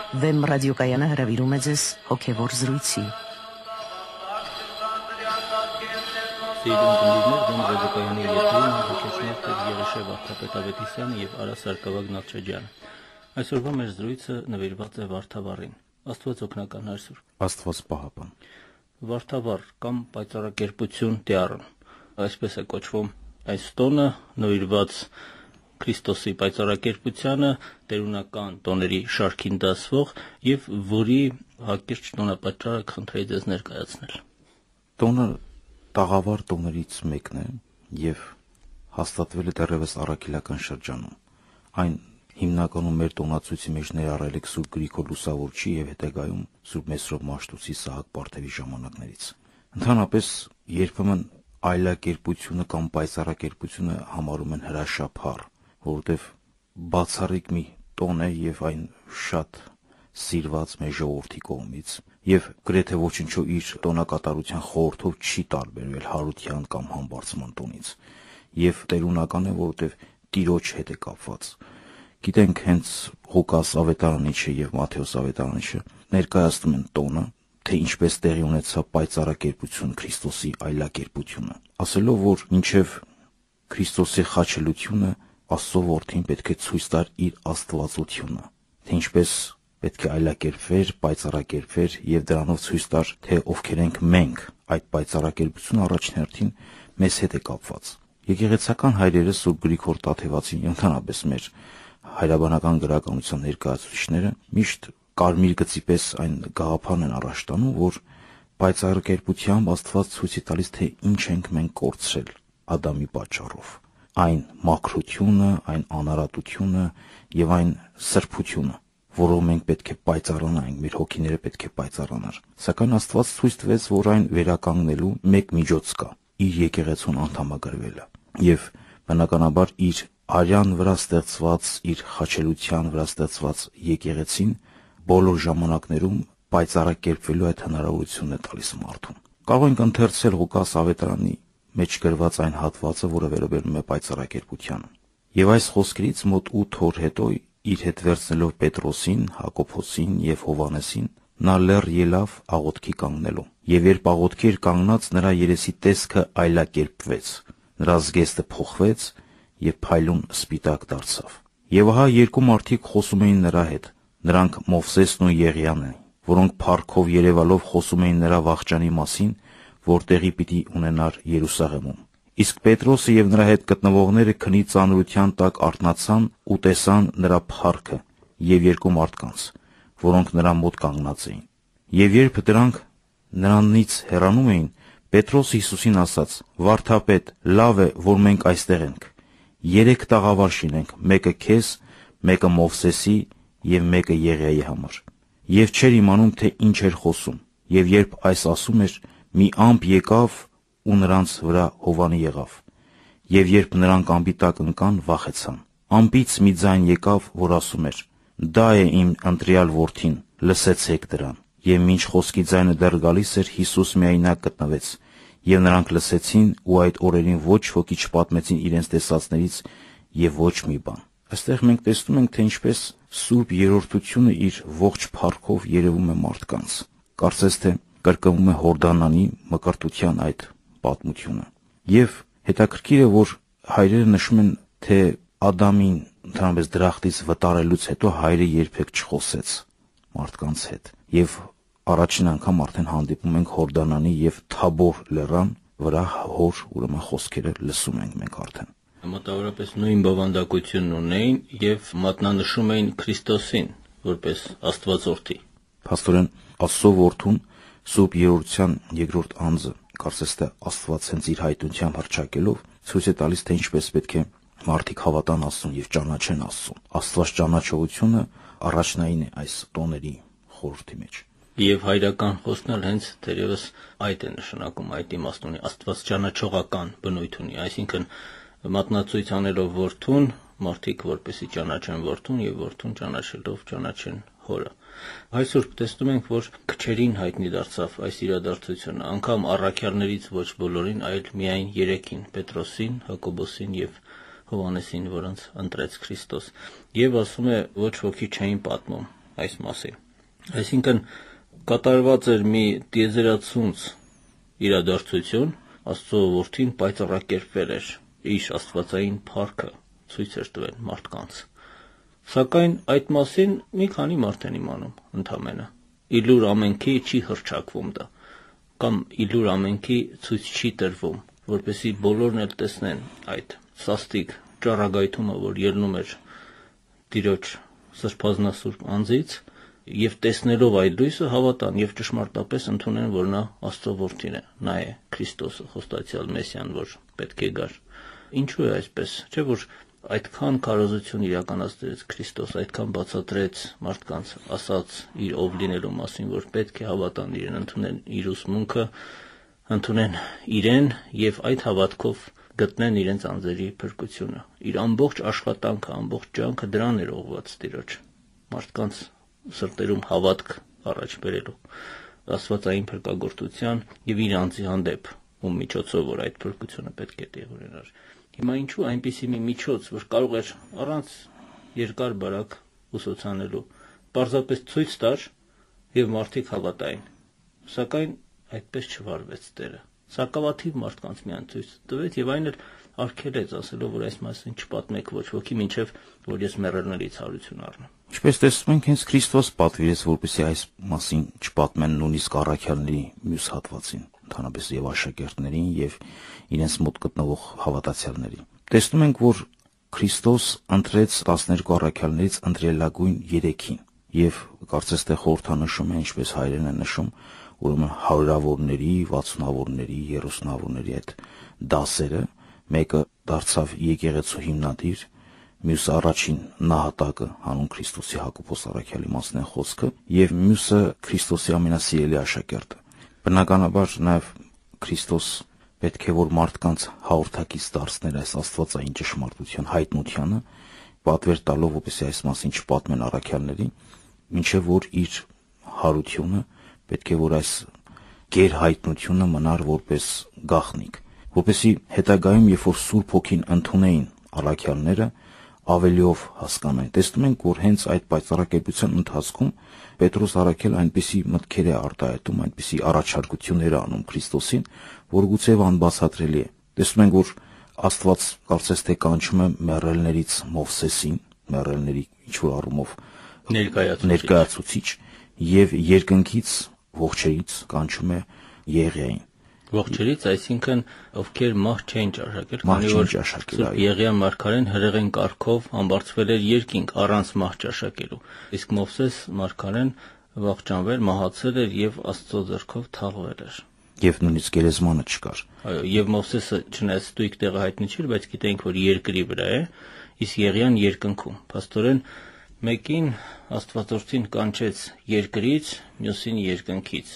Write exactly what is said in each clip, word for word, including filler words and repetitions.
Վեմ ռադիոկայանը հրավիրում է ձեզ հոգևոր զրույցի։ Սիրուն գնդիրներ, Վեմ ռադիոկայանի եթերին հոգեցնող տեր Եղիշե Վարդապետ Ավետիսյանը եւ Արա Սարգսակյան Նալչաջյանը։ Այսօրվա մեր զրույցը նվիրված է Վարդավառին։ Աստված օգնական այսօր։ Աստված պահապան։ Վարդավառ կամ պայծառակերպություն Տիառն, այսպես է կոչվում այս տոնը, նվիրված Քրիստոսի պայծառակերպությանը, տերունական տոների շարքին դասվող եւ որի հակիրճ տոնապատճառը խնդրեի ձեզ ներկայացնել։ Տոնը տաղավար տոներից մեկն է եւ հաստատվել է դեռևս առաքելական շրջանում։ Այն հիմնականում մեր տոնացույցի մեջ ներառել է Սուրբ Գրիգոր Լուսավորչի եւ հետագայում Սուրբ Մեսրոպ Մաշտոցի Սահակ Պարթևի ժամանակներից։ Ընդհանրապես երբեմն այլակերպությունը կամ պայծառակերպությունը համարում են հրաշափառ, որովհետեւ բացառիկ մի տոն է եւ այն շատ սիրված մեր ժողովրդի կողմից եւ գրեթե ոչնչով իր տոնակատարության խորհրդով չի տարբերվել հարության կամ համբարձման տոնից եւ տերունական է, որովհետեւ Տիրոջ հետ է կապված։ Գիտենք, հենց Ղուկաս Ավետարանիչը եւ Մատթեոս Ավետարանիչը ներկայացնում են տոնը, թե ինչպես տեղի ունեցավ պայծառակերպություն Քրիստոսի այլակերպությունը, ասելով, որ մինչև Քրիստոսի խաչելությունը Աստծո որդին պետք է ցույց տար իր աստվածությունը, թե ինչպես պետք է այլակերպվեր, պայծառակերպվեր եւ դրանով ցույց տար, թե ովքեր ենք մենք։ Այդ պայծառակերպությունը առաջին հերթին մեզ հետ է կապված։ Եկեղեցական հայրերը Սուրբ Գրիգոր Տաթևացին, ընդհանրապես մեր հայրաբանական գրականության ներկայացուցիչները միշտ կարմիր գծի պես այն գաղափարն են առաջ տանում, որ պայծառակերպությամբ Աստված ցույց է տալիս, թե ինչ ենք մենք կորցրել Ադամի պատճառով։ Այն մաքրությունը, այն անարատությունը եւ այն սրբությունը, որով մենք պետք է պայծառանանք, մեր հոգիները պետք է պայծառանար։ Սակայն Աստված ցույց տվեց, որ այն վերականգնելու մեկ միջոց կա՝ իր եկեղեցուն անդամագրվելը։ Եվ բնականաբար իր արյան վրա ստեղծված, իր խաչելության վրա ստեղծված եկեղեցին բոլոր ժամանակներում պայծառակերպվելու այդ հնարավորությունն է տալիս մարդուն։ Կարող ենք ընթերցել Ղուկաս Ավետարանի մեջ գրված այն հատվածը, որը վերաբերում է պայծառակերպությանը։ Եվ այս խոսքերից մոտ ութ օր հետո իր հետ վերցնելով Պետրոսին, Հակոբոսին եւ Հովանեսին, նա լեռ ելավ աղոթքի կանգնելու։ Եվ երբ աղոթքի էր կանգնած, նրա երեսի տեսքը այլակերպվեց, նրա զգեստը փոխվեց եւ փայլուն սպիտակ դարձավ։ Եվ ահա երկու մարդիկ խոսում էին նրա հետ, նրանք Մովսեսն ու Եղիան էին, որոնք փառքով երևալով խոսում էին նրա վախճանի մասին, որ տեղի պիտի ունենար Երուսաղեմում։ Իսկ Պետրոսը եւ նրա հետ գտնվողները քնի ծանրության տակ արթնացան ու տեսան նրա փառքը եւ երկու մարդկանց, որոնք նրա մոտ կանգնած էին։ Եվ երբ դրանք նրանից հեռանում էին, Պետրոսը Հիսուսին ասաց. «Վարդապետ, լավ է, որ մենք այստեղ ենք։ Երեք տաղավար շինենք, մեկը քեզ, մեկը Մովսեսի եւ մեկը Եղիայի համար»։ Եվ չէր իմանում, թե ինչ էր խոսում։ Եվ երբ այս ասում էր, մի ամպ եկավ ու նրանց վրա հովանի եղավ։ Եվ երբ նրանք ամպի տակ ընկան, վախեցան։ Ամպից մի ձայն եկավ, որ ասում էր. «Դա է իմ ընտրյալ որդին, լսեցեք դրան»։ Եվ մինչ խոսքի ձայնը դեռ գալիս էր, Հիսուս միայնակ գտնվեց, եւ նրանք լսեցին ու այդ օրերին ոչ ոքի չպատմեցին իրենց տեսածներից եւ ոչ մի բան։ Այստեղ մենք տեսնում ենք, թե ինչպես Սուրբ Երրորդությունը իր ողջ փառքով երևում է մարդկանց։ Կարծես թե կրկնվում է Հորդանանի մկրտության այդ պատմությունը։ Եվ հետաքրքիր է, որ հայրերը նշում են, թե Ադամին ընդհանրապես դրախտից վտարելուց հետո հայրը երբեք չխոսեց մարդկանց հետ։ Եվ առաջին անգամ արդեն հանդիպում ենք Հորդանանի եւ Թաբոր լեռան վրա հոր ուրեմն խոսքերը լսում ենք մենք արդեն։ Մոտավորապես նույն բովանդակությունն ունեին եւ մատնանշում էին Քրիստոսին որպես Աստվածորդի։ Փաստորեն Աստծո որդուն Սուրբ Երրորդության երկրորդ անձը, կարծես թե Աստված հենց իր հայտնությամբ հռչակելով ցույց է տալիս, թե ինչպես պետք է մարդիկ հավատան Աստծուն եւ ճանաչեն Աստծուն։ Աստված ճանաչողությունը առաջնային է այս տոների խորհրդի մեջ։ Եվ հայրական խոսքն էլ հենց դերևս այդ է նշանակում, այդ իմաստ ունի, Աստված ճանաչողական բնույթ ունի, այսինքն մատնացույց անելով որդուն, մարդիկ որպեսզի ճանաչեն որդուն եւ որդուն ճանաչելով ճանաչեն հորը։ Այսօր տեսնում ենք, որ քչերին հայտնի դարձավ այս իրադարձությունը, անգամ առաքյալներից ոչ բոլորին, այլ միայն երեքին՝ Պետրոսին, Հակոբոսին եւ Հովանեսին, որոնց ընտրեց Քրիստոս։ Եվ ասում է, ոչ ոքի չէին պատմում, այս մասին։ Այսինքն կատարված էր մի տիեզերացունց իրադարձություն, Աստծո որդին պայծառակերպվել էր, իր աստվածային փառքը ցույց էր տվել մարդկանց։ Սակայն այդ մասին մի քանի մարդ են իմանում ընդամենը։ Իլուր ամենքի չի հռչակվում դա, կամ իլուր ամենքի ցույց չի տրվում, որպեսզի բոլորն էլ տեսնեն այդ սաստիկ ճառագայթումը, որ ելնում էր Տիրոջ սրբազնասուրբ անձից, եւ տեսնելով այդ լույսը հավատան եւ ճշմարտապես ընդունեն, որ նա Աստծո որդին է, նա է Քրիստոսը, խոստացյալ Մեսիան, որ պետք է գար։ Ինչու է այսպես, չէ՞ որ այդքան քարոզություն իրականացրեց Քրիստոս, այդքան բացատրեց մարդկանց, ասաց իր ով լինելու մասին, որ պետք է հավատան իրեն, ընդունեն իր ուսմունքը, ընդունեն իրեն եւ այդ հավատքով գտնեն իրենց անձերի փրկությունը։ Իր ամբողջ աշխատանքը, ամբողջ ջանքը դրան էր ուղղված Տիրոջ, մարդկանց սրտերում հավատք առաջ բերելու, աստվածային փրկagorտության եւ իր անձի հանդեպ, ում միջոցով որ այդ փրկությունը պետք է տեղ ունենար։ Հիմա ինչու այնպիսի մի միջոց, որ կարող էր առանց երկար բարակ ուսուցանելու, պարզապես ցույց տար եւ մարդիկ հավատային։ Սակայն այդպես չվարվեց Տերը։ Սակավաթիվ մարդկանց միան ցույց տվեց եւ այն էլ արգելեց, ասելով, որ այս մասին չպատմեք ոչ ոքի, մինչեւ որ ես մեռելներից հարություն առնեմ։ Ինչպես տեսնում ենք, հենց Քրիստոս պատվիրեց, որպեսզի այս մասին չպատմեն նույնիսկ առաքյալների մյուս հատվածին, ընդհանրապես եւ աշակերտներին եւ իրենց մոտ գտնվող հավատացյալներին։ Տեսնում ենք, որ Քրիստոս ընտրեց տասներկու առաքյալներից ընտրելագույն երեքին եւ կարծես թե խորհրդանշում է, ինչպես հայրեն է նշում, ուրեմն հարյուրավորների, վաթսունավորների, երեսունավորների այդ դասերը, մեկը դարձավ եկեղեցու հիմնադիր, մյուսը առաջին նահատակը հանուն Քրիստոսի Հակոբոս առաքյալի մասն է խոսքը, եւ մյուսը Քրիստոսի ամենասիրելի աշակերտը։ Բնականաբար նաեւ Քրիստոս պետք է որ մարդկանց հաղորդակից դարձներ այս աստվածային ճշմարտության հայտնությանը, պատվեր տալով, որպեսզի այս մասին չպատմեն առաքյալներին, մինչև որ իր հարությունը պետք է որ այս գերհայտնությունը մնար որպես գաղտնիք, որպեսզի հետագայում, երբ որ Սուրբ Հոգին ընդունեին առաքյալները, ավելիով հասկանային։ Տեսնում ենք, որ հենց այդ պայծառակերպության ընթացքում Պետրոս առաքյալ այնպիսի մտքեր է արտահայտում, այնպիսի առաջարկություններ է անում Քրիստոսին, որ գուցե անբացատրելի է։ Տեսնում ենք, որ Աստված կարծես թե կանչում է մեռելներից Մովսեսին, մեռելների ինչ-որ առումով ներկայացուցիչ, եւ երկնքից ողջերից կանչում է Եղիային։ Ողջերից, այսինքն ովքեր մահ չեն ճաշակել, քանի որ Սուրբ Եղիան մարգարեն հրեղեն կարգով ամբարձվել էր երկինք առանց մահ ճաշակելու, իսկ Մովսես մարգարեն վախճանվել, մահացել էր եւ Աստծո ձեռքով թաղվել էր։ Եվ նույնիսկ գերեզմանը չկար։ Այո, եւ Մովսեսը չնայած ստույգ տեղը հայտնի չէր, բայց գիտենք, որ երկրի վրա է, իսկ Եղիան երկնքում։ Փաստորեն մեկին Աստվածորդին կանչեց երկրից, մյուսին երկնքից,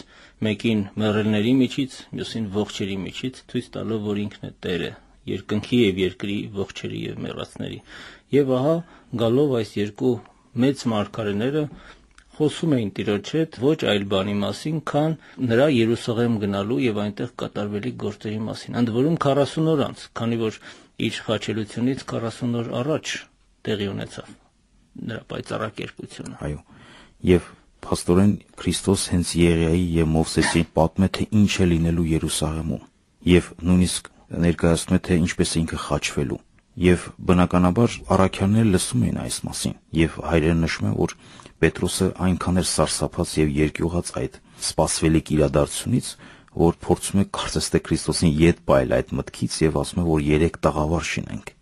մեկին մեռելների միջից, մյուսին ողջերի միջից, ցույց տալով, որ ինքն է Տերը, երկնքի եւ երկրի, ողջերի եւ մեռածների։ Եվ ահա գալով այս երկու մեծ մարգարեները խոսում էին Տիրոջ հետ ոչ այլ բանի մասին, քան նրա Երուսաղեմ գնալու եւ այնտեղ կատարվելի գործերի մասին։ Ընդ որում քառասուն օր անց, քանի որ իր խաչելությունից քառասուն օր առաջ տեղի ունեցավ նրա պայծառակերպությունը։ Այո։ Եվ փաստորեն Քրիստոս հենց Եղիայի եւ Մովսեսի պատմե թե ինչ է լինելու Երուսաղեմում եւ նույնիսկ ներկայացնում է թե ինչպես է ինքը խաչվելու։ Եվ բնականաբար առաքյալները լսում էին այս մասին եւ հայրերը նշում են, որ Պետրոսը այնքան էր սարսափած եւ երկյուղած այդ սպասվելիք իրադարձությունից, որ փորձում է կարծես թե Քրիստոսին ետ պայել այդ մտքից եւ ասում է, որ երեք տաղավար շինենք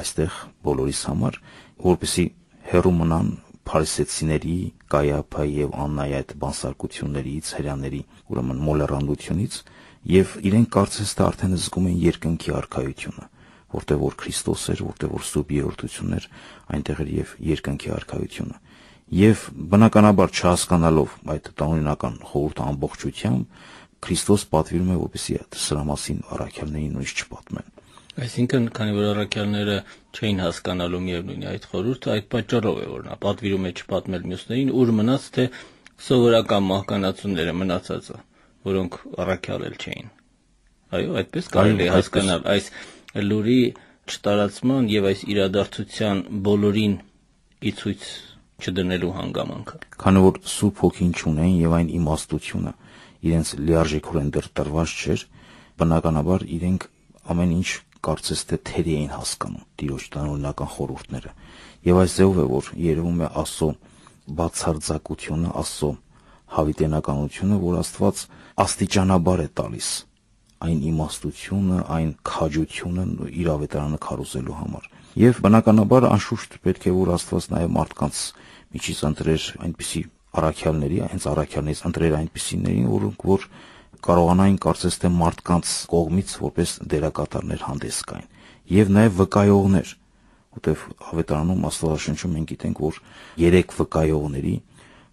այստեղ բոլորիս համար, որպեսզի հեռու մնան փարիսեցիների, Կայափայի եւ Աննայի այդ բանսարկություններից, հրյաների, ուրեմն մոլեռանդությունից, եւ իրենք կարծես թե արդեն զգում են երկնքի արքայությունը, որտեղ որ Քրիստոս էր, որտեղ որ Սուրբ Երրորդությունն էր, այնտեղ էր եւ երկնքի արքայությունը։ Եվ բնականաբար չհասկանալով այդ տանօրինական խորհուրդը ամբողջությամբ Քրիստոս պատվիրում է, որպեսզի սրա մասին առաքյալներին նույնիսկ չպատմեն։ Այսինքն, քանի որ առաքյալները չէին հասկանալու միևնույն այդ խորհուրդը, այդ պատճառով է որ նա պատվիրում է չպատմել մյուսներին, ուր մնաց թե սովորական մահկանացուները մնացածը, որոնք առաքյալել չէին։ Այո, այդպես կարելի է հասկանալ այս լուրի չտարածման եւ այս իրադարձության բոլորին ի ցույց չդնելու հանգամանքը։ Քանի որ Սուրբ Հոգին չունեն եւ այն իմաստությունը իրենց լիարժեքորեն դեռ տրված չէր, բնականաբար իրենք ամեն ինչ կարծես թե թերի էին հասկանում Տիրոջ տնօրինական խորհուրդները։ Եվ այս ձևով է, որ երևում է Աստծո բացարձակությունը, Աստծո հավիտենականությունը, որ Աստված աստիճանաբար է տալիս այն իմաստությունը, այն քաջությունը իր ավետարանը քարոզելու համար։ Եվ բնականաբար անշուշտ պետք է որ Աստված նաև մարդկանց միջից ընտրեր այնպիսի առաքյալների, հենց առաքյալներից ընտրեր այնպիսիներին, որոնք որ կարողանային կարծես թե մարդկանց կողմից որպես դերակատարներ հանդես գային, եւ նաև վկայողներ, որտեղ ավետարանում Աստվածաշնչում մենք գիտենք, որ երեք վկայողների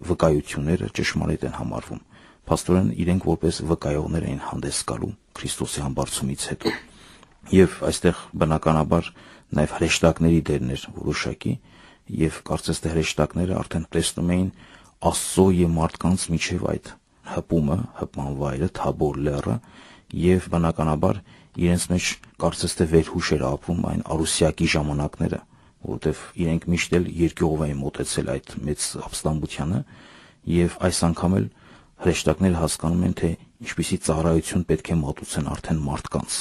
վկայությունները ճշմարիտ են համարվում։ Փաստորեն իրենք որպես վկայողներ էին հանդես գալու Քրիստոսի համբարձումից հետո։ Եվ այստեղ բնականաբար նաև հրեշտակների դերն էր որոշակի, եւ կարծես թե հրեշտակները արդեն տեսնում էին Աստծո եւ մարդկանց միջև այդ հպումը, հպման վայրը, Թաբոր լեռը, եւ բնականաբար իրենց մեջ կարծես թե վերհուշ էր ապրում այն արուսյակի ժամանակները, որովհետեւ իրենք միշտ էլ երկյուղով էին մոտեցել այդ մեծ ապստամբությանը, եւ այս անգամ էլ հրեշտակները հասկանում են, թե ինչպիսի ծառայություն պետք է մատուցեն արդեն մարդկանց։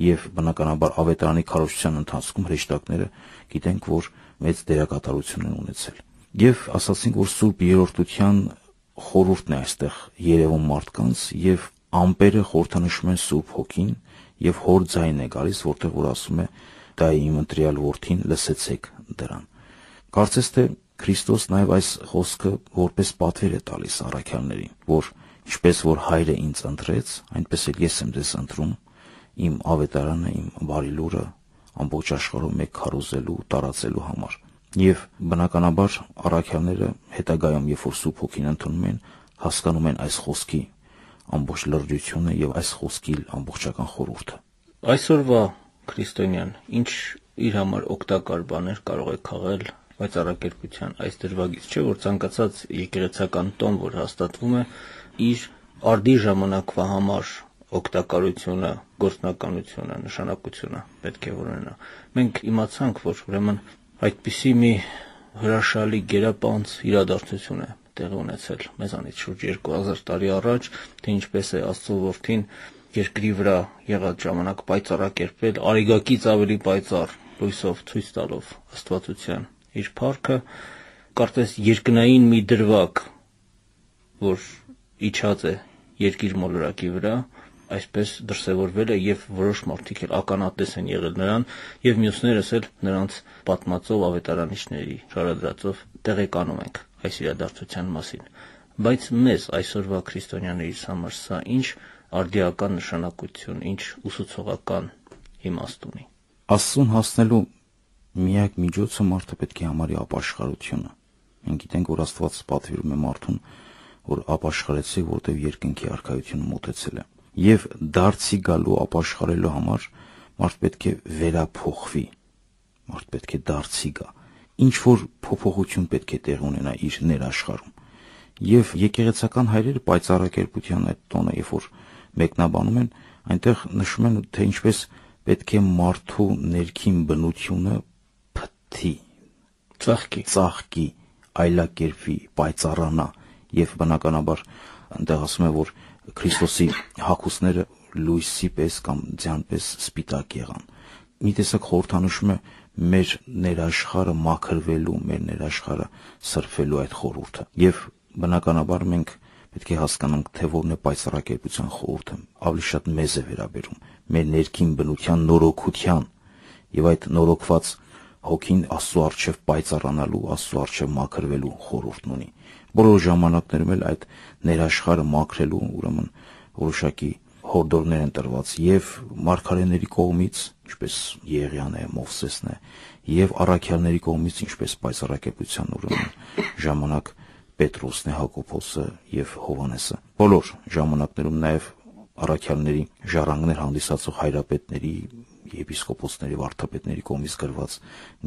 Եվ բնականաբար ավետարանի քարոզչության ընթացքում հրեշտակները գիտենք, որ մեծ դերակատարություն են ունեցել։ Եվ ասացինք, որ Սուրբ Երրորդության խորհուրդն է այստեղ երևում մարդկանց, եւ ամպերը խորհրդանշում են Սուրբ Հոգին, եւ հոր ձայնն է գալիս, որտեղ որ ասում է. «Դա է իմ ընտրյալ որդին, լսեցեք դրան»։ Կարծես թե Քրիստոս նաև այս խոսքը որպես պատվեր է տալիս առաքյալներին, որ ինչպես որ Հայրը ինձ ընտրեց, այնպես էլ ես եմ ձեզ ընտրում իմ ավետարանը, իմ բարի լուրը ամբողջ աշխարհում մեկ քարոզելու, տարածելու համար։ Եվ բնականաբար առաքյալները հետագայում, երբ որ Սուրբ Հոգին ընդունում են, հասկանում են այս խոսքի ամբողջ լրջությունը եւ այս խոսքի ամբողջական խորհուրդը։ Այսօրվա քրիստոնյան ինչ իր համար օգտակար բաներ կարող է քաղել վայծառակերպության այս դրվագից, չէ՞ որ ցանկացած եկեղեցական տոն, որ հաստատվում է, իր արդի ժամանակվա համար օգտակարությունը, գործնականությունը, նշանակությունը պետք է ունենա։ Մենք իմացանք, որ ուրեմն այդպիսի մի հրաշալի գերապանծ իրադարձություն է տեղի ունեցել մեզանից շուրջ երկու հազար տարի առաջ, թե ինչպես է Աստծո որդին երկրի վրա եղած ժամանակ պայծառակերպել, արիգակից ավելի պայծառ լույսով ցույց տալով Աստվածության իր փառքը, կարծես երկնային մի դրվագ, որ իջած է երկիր մոլորակի վրա, այսպես դրսևորվել է, եւ որոշ մարդիկ էլ ականատես են եղել նրան, եւ մյուսներս էլ նրանց պատմածով, ավետարանիչների շարադրածով տեղեկանում ենք այս իրադարձության մասին։ Բայց մեզ այսօրվա քրիստոնյաներից համար սա ինչ արդիական նշանակություն, ինչ ուսուցողական իմաստ ունի։ Աստծուն հասնելու միակ միջոցը մարդը պետք է համարի ապաշխարությունը։ Մենք գիտենք, որ Աստված պատվիրում է մարդուն, որ ապաշխարեցի, որտեղ երկնքի արքայությունը մոտեցել է։ Եվ դարձի գալու ապաշխարելու համար մարդ պետք է վերափոխվի, մարդ պետք է դարձի գա, ինչ որ փոփոխություն պետք է տեղ ունենա իր ներաշխարհում։ Եվ եկեղեցական հայրերը պայծառակերպության այդ տոնը, երբ որ մեկնաբանում են, այնտեղ նշում են, թե ինչպես պետք է մարդու ներքին բնությունը փթի, ծաղկի, ծաղկի, այլակերպվի, պայծառանա, եւ բնականաբար այնտեղ ասում է, որ Քրիստոսի հագուստները լույսի պես կամ ձյան պես սպիտակ եղան։ Մի տեսակ խորհրդանշում է մեր ներաշխարը մաքրվելու, մեր ներաշխարը սրբելու այդ խորհուրդը։ Եվ բնականաբար մենք պետք է հասկանանք, թե որն է պայծառակերպության խորհուրդը, ավելի շատ մեզ է վերաբերում, մեր ներքին բնության նորոգության, եւ այդ նորոգված հոգին Աստծո առջև պայծառանալու, Աստծո առջև մաքրվելու խորհուրդն ունի։ Բոլոր ժամանակներում էլ այդ ներաշխարը մաքրելու ուրեմն որոշակի հորդորներ են տրված եւ մարգարեների կողմից, ինչպես Եղիան է, Մովսեսն է, եւ առաքյալների կողմից, ինչպես պայծառակերպության ուրեմն ժամանակ Պետրոսն է, Հակոբոսը եւ Հովհաննեսը։ Բոլոր ժամանակներում նաեւ առաքյալների ժառանգներ հանդիսացող հայրապետների, եպիսկոպոսների, վարդապետների կողմից գրված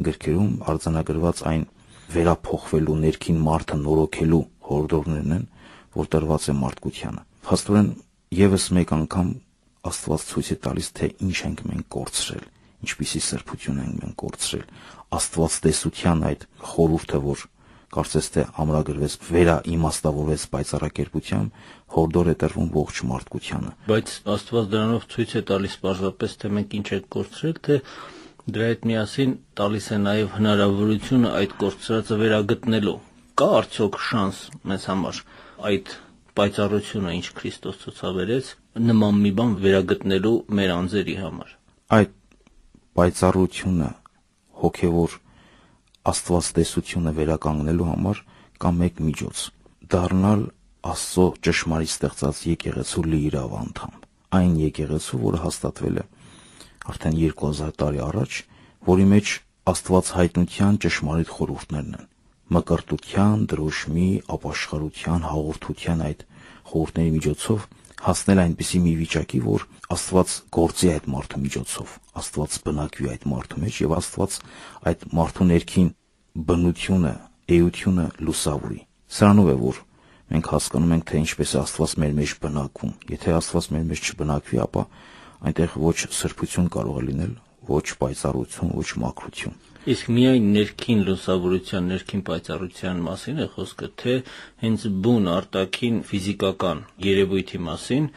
գրքերում արձանագրված այն վերափոխվելու, ներքին մարդը նորոգելու հորդորներն են, որ տրված է մարդկությանը։ Փաստորեն եւս մեկ անգամ Աստված ցույց է տալիս, թե ինչ ենք մենք կորցրել, ինչպիսի սրբություն ենք մենք կորցրել։ Աստված տեսության այդ խորհուրդը, որ կարծես թե ամրագրվեց, վերա իմաստավորվեց պայծառակերպությամբ, հորդոր է տրվում ողջ մարդկությանը։ Բայց Աստված դրանով ցույց է տալիս պարզապես, թե մենք ինչ ենք կորցրել, թե դրա հետ միասին տալիս է նաև հնարավորությունը այդ կորցրածը վերագտնելու։ Կա արդյոք շանս մեզ համար այդ պայծառությունը, ինչ Քրիստոս ցուցաբերեց, նման մի բան վերագտնելու մեր անձերի համար։ Այդ պայծառությունը, հոգևոր աստվածտեսությունը վերականգնելու համար կա մեկ միջոց՝ դառնալ Աստծո ճշմարիտ ստեղծած եկեղեցու լիիրավ անդամ։ Այն եկեղեցու, որը հաստատվել է արդեն երկու հազար տարի առաջ, որի մեջ Աստված հայտնության ճշմարիտ խորհուրդներն են։ Մկրտության, դրոշմի, ապաշխարության, հաղորդության այդ խորհուրդների միջոցով հասնել այնպիսի մի վիճակի, որ Աստված գործի այդ մարդու միջոցով, Աստված բնակվի այդ մարդու մեջ եւ Աստված այդ մարդու ներքին բնությունը, էությունը լուսավորի։ Սրանով է, որ մենք հասկանում ենք, թե ինչպես է Աստված մեր մեջ բնակվում։ Եթե Աստված մեր մեջ չբնակվի, ապա այնտեղ ոչ սրբություն կարող է լինել, ոչ պայծառություն, ոչ մաքրություն։ Իսկ միայն ներքին լուսավորության, ներքին պայծառության մասին է խոսքը, թե հենց բուն արտաքին ֆիզիկական երևույթի մասին,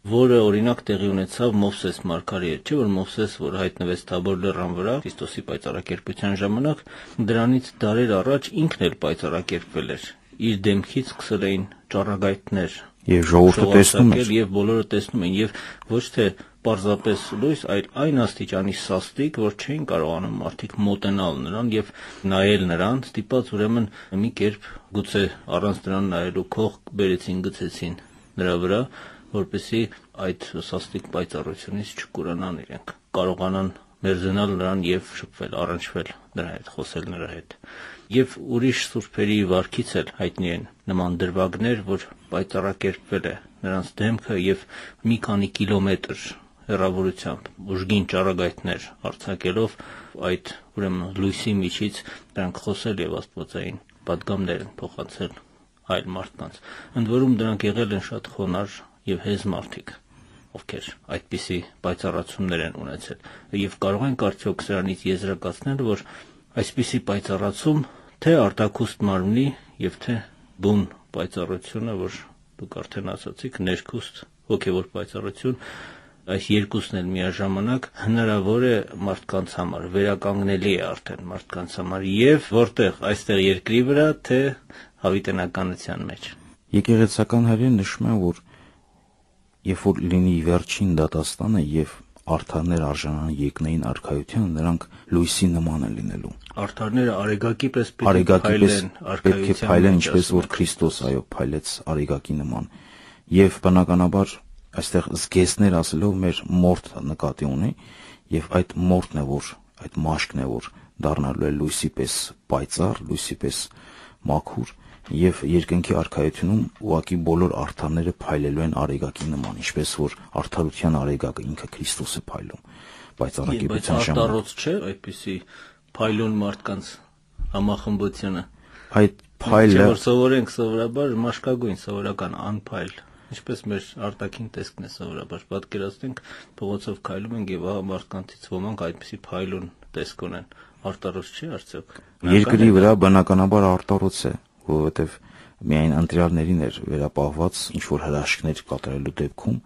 որը օրինակ տեղի ունեցավ Մովսես մարգարեի հետ, չէ՞ որ Մովսես, որ հայտնվեց Թաբոր լեռան վրա Քրիստոսի պայծառակերպության ժամանակ, դրանից դարեր առաջ ինքն էլ պայծառակերպվել էր։ Իր դեմքից սկսել էին ճառագայթներ եւ ժողովուրդը տեսնում էր, եւ բոլորը տեսնում են, եւ ոչ թե պարզապես լույս, այլ այն աստիճանի սաստիկ, որ չէին կարողանում մարդիկ մոտենալ նրան եւ նայել նրան, ստիպած ուրեմն մի կերպ գուցե առանց դրան նայելու քող բերեցին, գցեցին նրա վրա, որպեսզի այդ սաստիկ պայծառությունից չկուրանան իրենք, կարողանան մերձենալ նրան եւ շփվել, առնչվել նրա հետ, խոսել նրա հետ։ Եվ ուրիշ սուրբերի վարքից էլ հայտնի են նման դրվագներ, որ պայծառակերպվել է նրանց դեմքը եւ մի քանի կիլոմետր հեռավորությամբ ուժգին ճառագայթներ արձակելով այդ ուրեմն լույսի միջից նրանք խոսել եւ աստվածային պատգամներ են փոխանցել այլ մարդկանց։ Ընդ որում դրանք եղել են շատ խոնար եւ հեզ մարդիկ, ովքեր այդպիսի պայծառացումներ են ունեցել։ Եվ կարող ենք արդյոք սրանից եզրակացնել, որ այսպիսի պայծառացում թե արտաքուստ մարմնի եւ թե բուն պայծառությունը, որ դուք արդեն ասացիք, ներքուստ հոգեվոր պայծառություն, այս երկուսն էլ միաժամանակ հնարավոր է մարդկանց համար, վերականգնելի է արդեն մարդկանց համար եւ որտեղ այստեղ երկրի վրա, թե հավիտենականության մեջ։ Եկեղեցական հայրերը նշում են, որ երբ որ լինի վերջին դատաստանը եւ արդարներ արժանան երկնային արքայության, նրանք լույսի նման են լինելու։ Արդարները արեգակի պես պետք է փայլեն, ինչպես որ Քրիստոս այո փայլեց արեգակի նման։ Եվ բնականաբար այստեղ զգեստներ ասելով մեր մորթ նկատի ունի, եւ այդ մորթն է, որ այդ մաշկն է, որ դառնալու է լույսի պես պայծառ, լույսի պես մաքուր, եւ երկնքի արքայությունում ուղղակի բոլոր արդարները փայլելու են արեգակի նման, ինչպես որ արդարության արեգակը ինքը Քրիստոս է փայլում պայծառակերպության ժամանակ։ Արտարոց չէ այդպիսի փայլուն մարդկանց համախմբությունը։ Այդ փայլը որ սովորենք սովորաբար մաշկագույն սովորական անփայլ, ինչպես մեր արտաքին տեսքն է սովորաբար, պատկերացնենք փողոցով քայլում ենք եւ ահա մարդկանցից ոմանք այդպիսի փայլուն տեսք ունեն։ Արտարոց չէ արդյոք։ Երկրի վրա բնականաբար արտարոց է, որովհետեւ միայն ընտրյալներին էր վերապահված ինչ որ հրաշքներ կատարելու դեպքում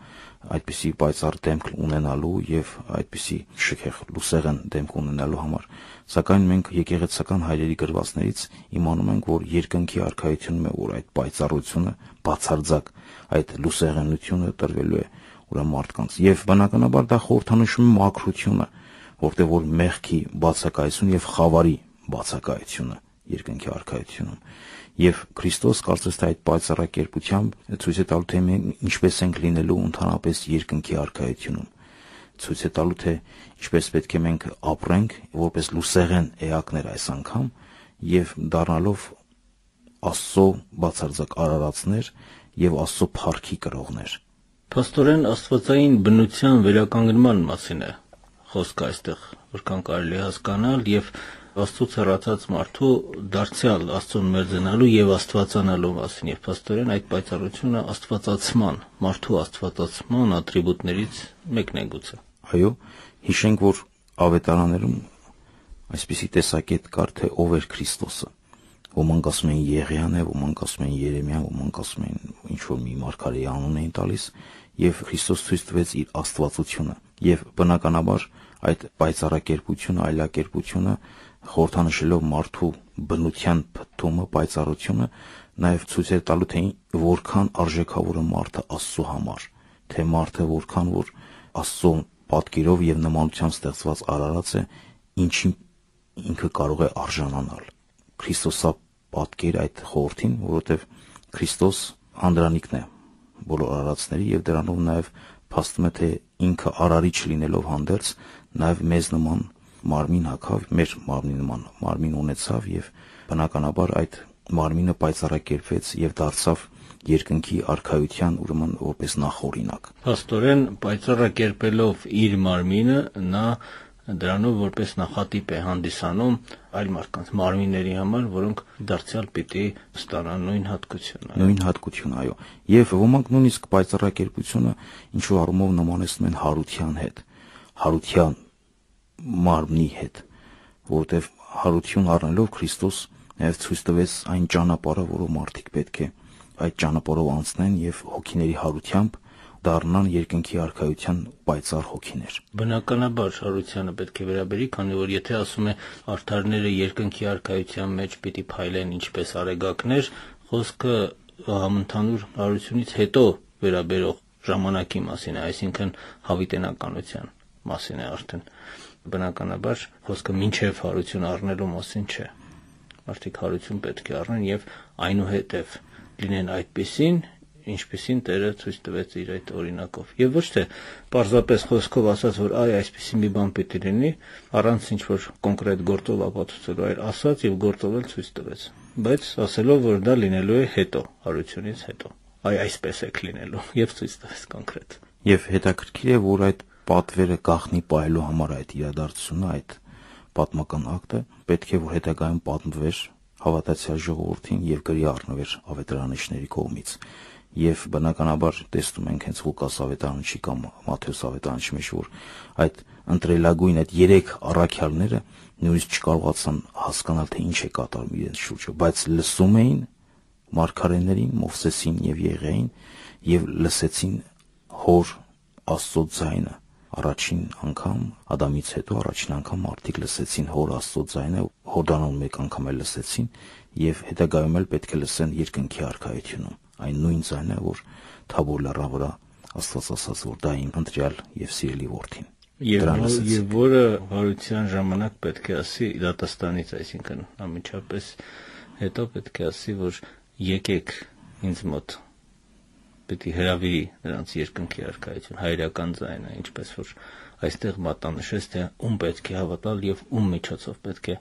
այդպիսի պայծառ դեմք ունենալու եւ այդպիսի շքեղ լուսեղեն դեմք ունենալու համար, սակայն մենք եկեղեցական հայրերի գրվածներից իմանում ենք, որ երկնքի արքայությունում է, որ այդ պայծառությունը բացարձակ այդ լուսեղենությունը տրվելու է ուրեմն մարդկանց եւ բնականաբար դա խորհրդանշում է մաքրությունը, որտեղ որ մեղքի բացակայություն եւ խավարի բացակայությունը երկնքի արքայությունում եւ Քրիստոս կարծես թե այդ պայծառակերպությամբ ցույց է տալու, թե մենք ինչպես ենք լինելու ընդհանրապես երկնքի արքայությունում, ցույց է տալու, թե ինչպես պետք է մենք ապրենք որպես լուսեղեն էակներ այս անգամ եւ դառնալով Աստծո բացարձակ արարածներ եւ Աստծո փառքի կրողներ։ Փաստորեն աստվածային բնության վերականգնման մասին է խոսքը այստեղ, որքան կարելի հասկանալ եւ Աստծո հեռացած մարդու դարձյալ Աստծուն մերձենալու եւ աստվածանալու մասին եւ փաստորեն այդ պայծառությունը աստվածացման, մարդու աստվածացման ատրիբուտներից մեկն է գուցե։ Այո, հիշենք, որ ավետարաններում այսպիսի տեսակետ կար, թե ով էր Քրիստոսը։ Ոմանք ասում են Եղիան է, ոմանք ասում են Երեմիան, ոմանք ասում են ինչ որ մի մարգարեի անուն էին տալիս, եւ Քրիստոս ցույց տվեց իր աստվածությունը, եւ բնականաբար այդ պայծառակերպությունը, այլակերպությունը խորհրդանշելով մարդու բնության փթթումը, պայծառությունը, նաեւ ցույց է տալու թե որքան արժեքավոր է մարդը Աստծո համար, թե մարդը որքան որ Աստծո պատկերով եւ նմանությամբ ստեղծված արարած է, ինչին ինքը կարող է արժանանալ։ Քրիստոսա պատկեր այդ խորհրդին, որովհետեւ Քրիստոս անդրանիկն է բոլոր արարածների եւ դրանով նաեւ փաստում է թե ինքը արարիչ լինելով հանդերձ նաեւ մեզ նման մարմին հագավ, մեր մարմնի նման մարմին ունեցավ եւ բնականաբար այդ մարմինը պայծառակերպվեց եւ դարձավ երկնքի արքայության ուրեմն որպես նախօրինակ։ Փաստորեն պայծառակերպելով իր մարմինը նա դրանով որպես նախատիպ է հանդիսանում այլ մարդկանց մարմինների համար, որոնք դարձյալ պիտի ստանան նույն հատկությունը։ Նույն հատկությունը, այո։ Եվ ոմանք նույնիսկ պայծառակերպությունը ինչ որ առումով նմանեցնում են հարության հետ, հարության մարմնի հետ, որովհետև հարություն առնելով Քրիստոս նաև ցույց տվեց այն ճանապարհը, որով մարդիկ պետք է այդ ճանապարհով անցնեն եւ հոգիների հարությամբ դառնան երկնքի արքայության պայծառ հոգիներ։ Բնականաբար հարությանը պետք է վերաբերի, քանի որ եթե ասում է արդարները երկնքի արքայության մեջ պիտի փայլեն ինչպես արեգակներ, խոսքը համընդհանուր հարությունից հետո վերաբերող ժամանակի մասին է, այսինքն հավիտենականության մասին է արդեն։ Բնականաբար խոսքը մինչև հարություն առնելու մասին չէ։ Մարդիկ հարություն պետք է առնեն եւ այնուհետև լինեն այդպիսին, ինչպիսին Տերը ցույց տվեց իր այդ օրինակով։ Եվ ոչ թե պարզապես խոսքով ասած, որ այ այսպիսի մի բան պիտի լինի, առանց ինչ որ կոնկրետ գործով ապացուցելու, այլ ասած եւ գործով էլ ցույց տվեց։ Բայց ասելով, որ դա լինելու է հետո, հարությունից հետո։ Այ այսպես է լինելու եւ ցույց տվեց կոնկրետ։ Եվ հետաքրքիր է, որ այդ պատվերը գաղտնի պահելու համար այդ իրադարձությունը, այդ պատմական ակտը պետք է որ հետագայում պատմվեր հավատացյալ ժողովրդին եւ գրի առնվեր ավետարանիչների կողմից։ Եվ բնականաբար տեսնում ենք հենց Ղուկաս ավետարանչի կամ Մատթեոս ավետարանչի մեջ, որ այդ ընտրելագույն այդ երեք առաքյալները նույնիսկ չկարողացան հասկանալ թե ինչ է կատարում իրենց շուրջը, բայց լսում էին մարգարեներին, Մովսեսին եւ Եղիային եւ լսեցին հոր Աստծո ձայնը։ Առաջին անգամ Ադամից հետո առաջին անգամ մարդիկ լսեցին հոր Աստծո ձայնը, Հորդանոն մեկ անգամ էլ լսեցին եւ հետագայում էլ պետք է լսեն երկնքի արքայությունում։ Այն նույն ձայնը, որ Թաբոր լեռան վրա Աստված ասաց, որ դա իմ ընտրյալ եւ սիրելի որդին։ Եվ որը հարության ժամանակ պետք է ասի դատաստանից, այսինքն ամիջապես հետո պետք է ասի, որ եկեք ինձ մոտ, պետք է հրավիրի նրանց երկնքի արքայություն, հայրական ձայնը, ինչպես որ այստեղ մատնանշեց, թե ում պետք է հավատալ եւ ում միջոցով պետք է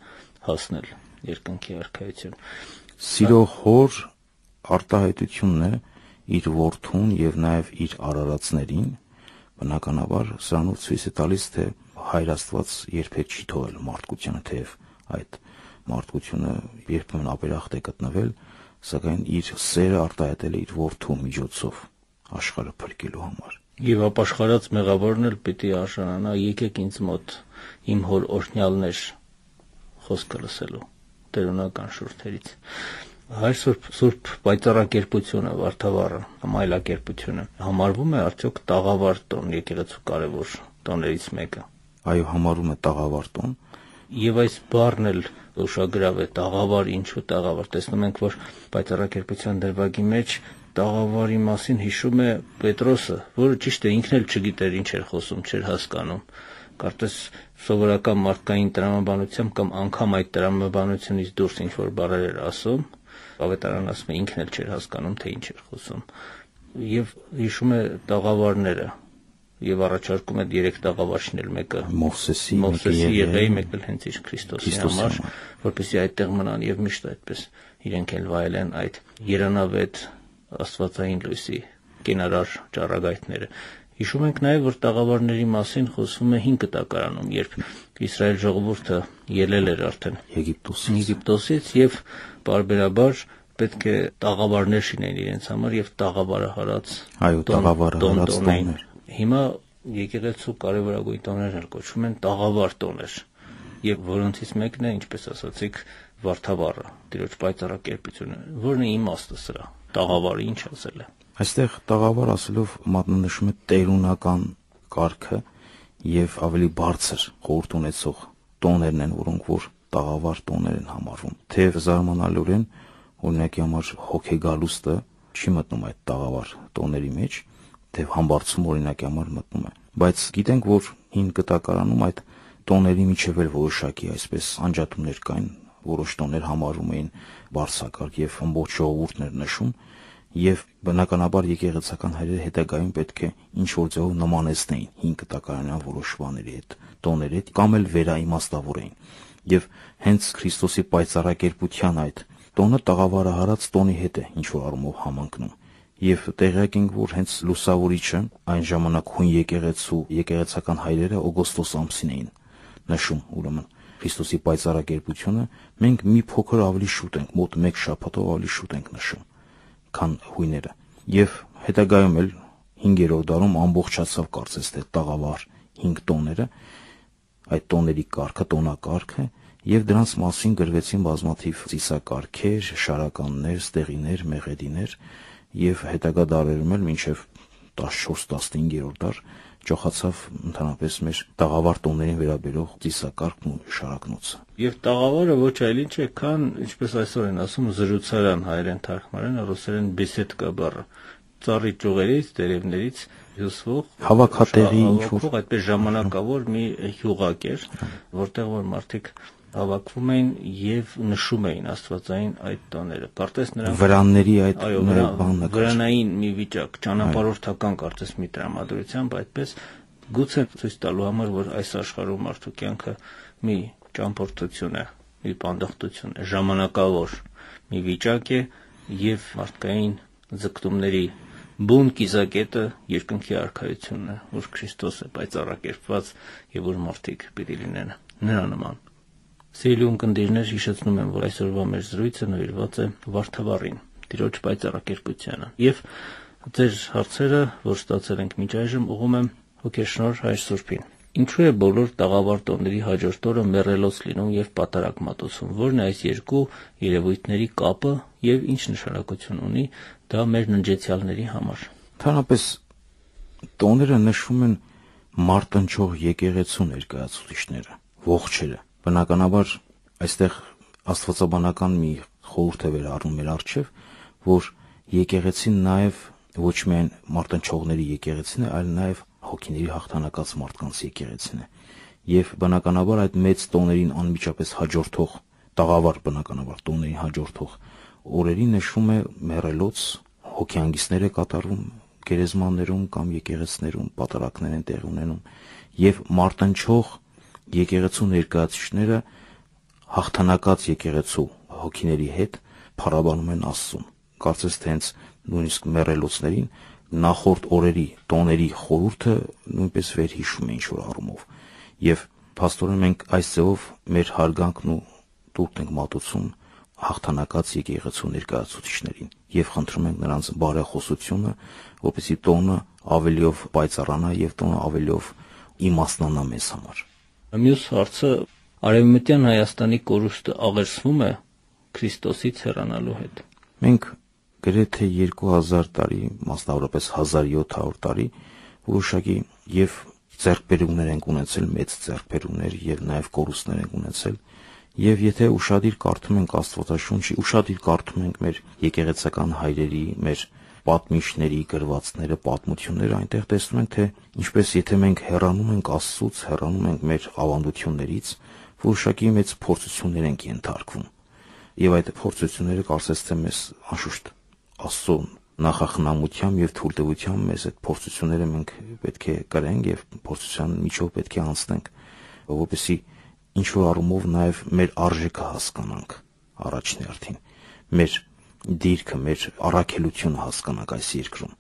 հասնել երկնքի արքայություն։ Սիրո հոր արտահայտությունն է իր որդուն եւ նաեւ իր արարածներին, բնականաբար սրանով ցույց է տալիս, թե Հայր Աստված երբեք չի թողել մարդկությանը, թեև այդ մարդկությունը երբեմն ապերախտ է գտնվել, սակայն իր սերը արտահայտել է իր որդու միջոցով աշխարհը փրկելու համար։ Եվ ապաշխարած մեղավորն էլ պիտի արժանանա, եկեք ինձ մոտ իմ հոր օրհնյալներ խոսքը լսելու տերունական շուրթերից։ Հայր Սուրբ Սուրբ պայծառակերպությունը, վարդավառը, այլակերպությունը համարվում է արդյոք տաղավար տոն, եկեղեցու կարևոր տոներից մեկը։ Այո, համարվում է տաղավար տոն։ Եվ այս բառն էլ ուշագրավ է, տաղավար, ինչու տաղավար։ Տեսնում ենք, որ պայծառակերպության դրվագի մեջ տաղավարի մասին հիշում է Պետրոսը, որը ճիշտ է ինքն էլ չգիտեր ինչ էր խոսում, չէր հասկանում։ Կարծես սովորական մարդկային տրամաբանությամբ կամ անգամ այդ տրամաբանությունից դուրս ինչ որ բառեր էր ասում, ավետարան ասում է ինքն էլ չէր հասկանում, թե ինչ էր խոսում։ Եվ հիշում է տաղավարները եւ առաջարկում է երեք տաղավարչներ, մեկը Մովսեսի, Մովսեսի Եղեի, մեկը հենց իր Քրիստոսի համար, որպեսզի այդտեղ մնան եւ միշտ այդպես իրենք էլ վայելեն այդ երանավետ աստվածային լույսի կենարար ճառագայթները։ Հիշում ենք նաեւ, որ տաղավարների մասին խոսվում է հին կտակարանում, երբ Իսրայել ժողովուրդը ելել էր արդեն Եգիպտոսից Եգիպտոսից եւ բարբերաբար պետք է տաղավարներ շինեն իրենց համար եւ տաղավարահարած այո տաղավարահարած տոներ։ Հիմա եկեղեցու կարևորագույն տոներն էլ կոչվում են տաղավար տոներ։ եւ որոնցից մեկն է, ինչպես ասացիք, Վարդավառը, Տիրոջ պայծառակերպությունը։ Որն է իմաստը սրա։ Տաղավարը ինչ ասել է։ Այստեղ տաղավար ասելով մատնանշում է տերունական կարգը եւ ավելի բարձր խորհուրդ ունեցող տոներն են, որոնք որ տաղավար տոներ են համարվում։ Թեև զարմանալիորեն օրինակի համար հոգեգալուստը չի մտնում այդ տաղավար տոների մեջ, թեև համբարձում օրինակի համար մտնում է։ Բայց գիտենք, որ հին կտակարանում այդ տոների միջև էլ որոշակի այսպես անջատումներ կային, որոշ տոներ համարվում էին բարձրակարգ եւ ամբողջ ժողովուրդներ նշում, եւ բնականաբար եկեղեցական հայրերը հետագայում պետք է ինչ որ ձևով նմանեցնեին հին կտակարանյան որոշ բաների հետ, տոների հետ, կամ էլ վերաիմաստավորեին։ Եվ հենց Քրիստոսի պայծառակերպության այդ տոնը տաղավարը հարած տոնի հետ է ինչ որ առումով համընկնում։ Եվ տեղյակ ենք, որ հենց լուսավորիչը այն ժամանակ հույն եկեղեցու եկեղեցական հայրերը օգոստոս ամսին էին նշում, ուրեմն Քրիստոսի պայծառակերպությունը մենք մի փոքր ավելի շուտ ենք, մոտ մեկ շաբաթով ավելի շուտ ենք նշում, քան հույները։ Եվ հետագայում էլ հինգերորդ դարում ամբողջացավ կարծես թե տաղավար հինգ տոները, այդ տոների կարգը, տոնակարգը, եւ դրանց մասին գրվեցին բազմաթիվ ծիսակարգեր, շարականներ, ստեղիներ, մեղեդիներ, եւ հետագա դարերում էլ մինչեւ տասնչորս տասնհինգերորդ դար ճոխացավ ընդհանրապես մեր տաղավար տոներին վերաբերող ծիսակարգն ու շարակնոցը։ Եվ տաղավարը ոչ այլ ինչ է, քան, ինչպես այսօր են ասում, զրուցարան հայերեն թարգմանեն, ռուսերեն բեսեդկա բառը, ծառի ճյուղերից, տերևներից հյուսվող հավաքատեղի ինչ-որ այդպես ժամանակավոր մի հյուղակ էր, որտեղ որ մարդիկ հավաքվում էին եւ նշում էին աստվածային այդ տոները։ Կարծես նրանք վրանների այդ բանը վրանային մի վիճակ, ճանապարհորդական կարծես մի տրամադրությամբ, այդպես գուցե ցույց տալու համար, որ այս աշխարհում մարդու կյանքը մի ճամփորդություն է, մի պանդխտություն է, ժամանակավոր մի վիճակ է եւ մարդկային ձգտումների բուն կիզակետը երկնքի արքայությունն է, որ Քրիստոս է պայծառակերպված եւ որ մարդիկ պիտի լինեն նրա նման։ Սիրելի ունկնդիրներ, հիշեցնում եմ, որ այսօրվա մեր զրույցը նվիրված է Վարդավառին, Տիրոջ պայծառակերպությանը։ Եվ ձեր հարցերը, որ ստացել ենք մինչ այժմ, ուղղում եմ Հոգեշնորհ Հայր Սուրբին։ Ինչու է բոլոր տաղավար տոների հաջորդ օրը մեռելոց լինում եւ պատարագ մատուցում։ Որն է այս երկու երևույթների կապը եւ ինչ նշանակություն ունի դա մեր ննջեցյալների համար։ Ընդհանրապես տոները նշվում են մարտնչող եկեղեցու ներկայացուցիչները, ողջերը։ Բնականաբար այստեղ աստվածաբանական մի խորհուրդ է վերառնում մեր առջև, որ եկեղեցին նաև ոչ միայն մարտնչողների եկեղեցին է, այլ նաև հոգիների հաղթանակած մարդկանց եկեղեցին է։ Եվ բնականաբար այդ մեծ տոներին անմիջապես հաջորդող տաղավար բնականաբար տոներին հաջորդող օրերին նշվում է մեռելոց, հոգեանգիստներ է կատարվում գերեզմաններում կամ եկեղեցիներում, պատարակներ են տեղի ունենում, եւ մարտնչող եկեղեցու ներկայացուցիչները հաղթանակած եկեղեցու հոգիների հետ փառաբանում են Աստծուն։ Կարծես թե հենց նույնիսկ մեռելոցներին նախորդ օրերի տոների խորհուրդը նույնպես վերհիշում է ինչ-որ առումով։ Եվ փաստորեն մենք այս ձևով մեր հարգանքն ու տուրթ ենք մատուցում հաղթանակած եկեղեցու ներկայացուցիչներին եւ խնդրում ենք նրանց բարեխոսությունը, որպեսզի տոնը ավելիով պայծառանա եւ տոնը ավելիով իմաստնանա մեզ համար։ Մյուս հարցը Արևմտյան Հայաստանի կորուստը աղերսվում է Քրիստոսից հեռանալու հետ։ Մենք գրեթե երկու հազար տարի, մասնավորապես հազար յոթ հարյուր տարի որոշակի եւ ձեռքբերումներ ենք ունեցել, մեծ ձեռքբերումներ եւ նաեւ կորուստներ ենք ունեցել։ Եվ եթե ուշադիր կարդում ենք Աստվածաշունչի, ուշադիր կարդում ենք մեր եկեղեցական հայրերի, մեր պատմիչների գրվածքները, պատմությունները, այնտեղ տեսնում ենք, թե ինչպես եթե մենք հեռանում ենք Աստծուց, հեռանում ենք մեր ավանդություններից, որոշակի մեծ փորձություններ ենք ենթարկվում։ Եվ այդ փորձությունները կարծես թե մեզ անշուշտ Աստծո նախախնամությամբ եւ թույլտվությամբ մեզ այդ փորձությունները մենք պետք է կրենք եւ փորձության միջով պետք է անցնենք, որովհետեւ ինչ որ առումով նաեւ մեր արժեքը հասկանանք առաջին հերթին, մեր դիրքը, մեր առաքելությունը հասկանանք այս երկրում։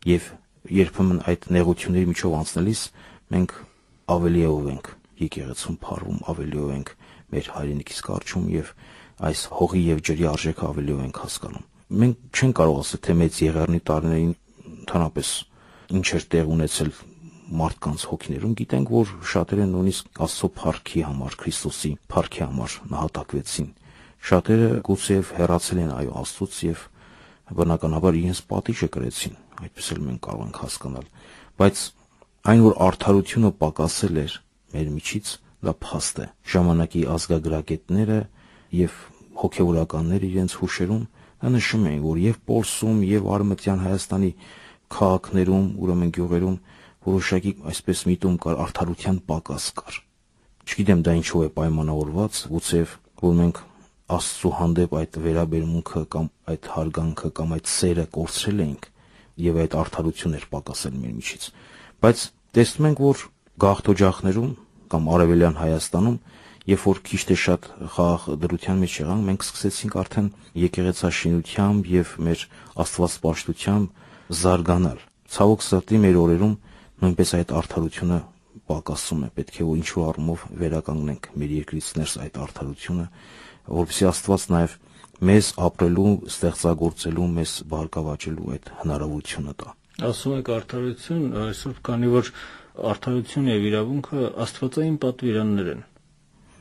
Եվ երբեմն այդ նեղությունների միջով անցնելիս մենք ավելիով ենք եկեղեցուն փառվում, ավելիով ենք մեր հայրենիքից կարճում եւ այս հողի եւ ջրի արժեքը ավելիով ենք հասկանում։ Մենք չենք կարող ասել, թե մեծ եղեռնի տարիներին ընդհանրապես ինչ էր տեղ ունեցել մարդկանց հոգիներում գիտենք, որ շատերը նույնիսկ Աստծո փառքի համար, Քրիստոսի փառքի համար նահատակվեցին։ Շատերը գուցեև հեռացել են այո Աստծուց եւ բնականաբար իրենց պատիժը կրեցին, այդպես էլ մենք կարող ենք հասկանալ, բայց այն, որ արդարությունը պակասել էր մեր միջից, դա փաստ է։ Ժամանակի ազգագրագետները եւ հոգեվորականները իրենց հուշերում նշում էին, որ եւ Պոլսում եւ Արևմտյան Հայաստանի քաղաքներում, ուրեմն գյուղերում որոշակի այսպես միտում կար, արդարության պակաս կար։ Չգիտեմ դա ինչով է պայմանավորված, գուցեև որ մենք Աստծո հանդեպ այդ վերաբերմունքը կամ այդ հարգանքը կամ այդ սերը կորցրել ենք եւ այդ արդարությունն էր պակասել մեր միջից։ Բայց տեսնում ենք, որ գաղթօջախներում կամ Արևելյան Հայաստանում, երբ որ քիչ թե շատ խաղաղ դրության մեջ եղանք, մենք սկսեցինք արդեն եկեղեցաշինությամբ եւ մեր աստվածպաշտությամբ զարգանալ։ Ցավոք սրտի մեր օրերում նույնպես այդ արդարությունը պակասում է, պետք է որ ինչ-որ առումով վերականգնենք մեր երկրից ներս այդ արդարությունը, որովհետեւ Աստված նաեւ մեզ ապրելու, ստեղծագործելու, մեզ բարգավաճելու այդ հնարավորությունը տա։ Ասում եք արդարություն, այսօր քանի որ արդարություն եւ իրավունքը աստվածային պատվիրաններ են,